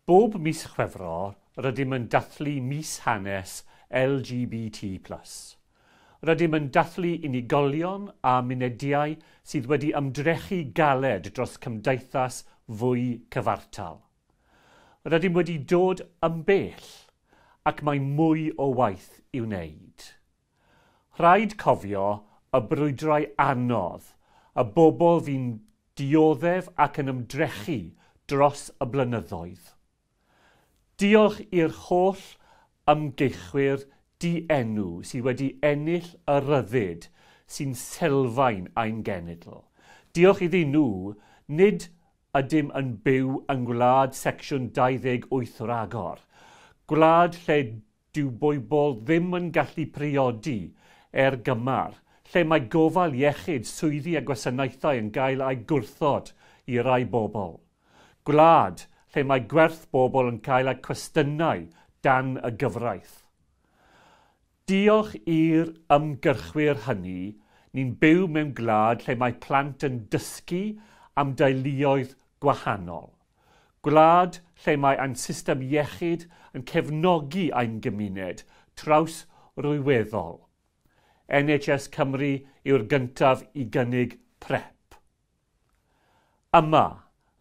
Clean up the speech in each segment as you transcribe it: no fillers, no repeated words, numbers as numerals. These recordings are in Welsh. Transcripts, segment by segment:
Bob mis Chwefror, rydym yn dathlu mis hanes LGBT+. Rydym yn dathlu unigolion a munediau sydd wedi ymdrechu galed dros cymdeithas fwy cyfartal. Rydym wedi dod yn bell ac mae mwy o waith i'w wneud. Rhaid cofio y brwydrau anodd, y bobl fu'n dioddef ac yn ymdrechu dros y blynyddoedd. Diolch i'r holl ymgeichwyr dienw sydd wedi ennill y rhyddid sy'n sylfaen ein genedl. Diolch iddyn nhw, nid ydym yn byw yng ngwlad Secsiwn 28 ragor. Gwlad lle dyw bobl ddim yn gallu priodi er gymar, lle mae gofal iechyd, swyddi a gwasanaethau yn gael eu gwrthod i rai bobl. Gwlad lle mae gwerth bobl yn cael eu cwestiynau dan y gyfraith. Diolch i'r ymgyrchwyr hynny, ni'n byw mewn gwlad lle mae plant yn dysgu am deuluoedd gwahanol. Gwlad lle mae ein system iechyd yn cefnogi ein gymuned traws ryweddol. NHS Cymru yw'r gyntaf i gynnig PrEP. Yma,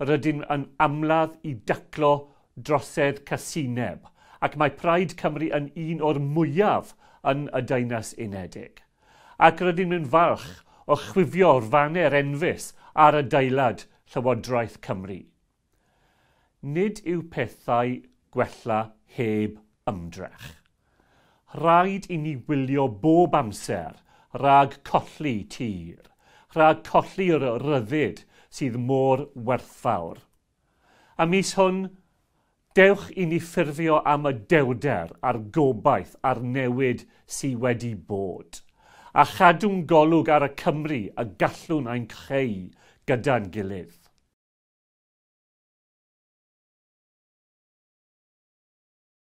rydym yn ymladd i daclo drosedd casineb, ac mae Pride Cymru yn un o'r mwyaf yn y Deyrnas Unedig. Ac rydym yn falch o chwifio'r faner enfys ar adeilad Llywodraeth Cymru. Nid yw pethau gwella heb ymdrech. Rhaid i ni wylio bob amser rhag colli tir, rhag colli'r rhyddid sydd mor werthfawr. A mis hwn, dewch i ni ffurfio am y dewrder a'r gobaith a'r newid sydd wedi bod, a chadw'n golwg ar y Cymru y gallwn ein creu gyda'n gilydd.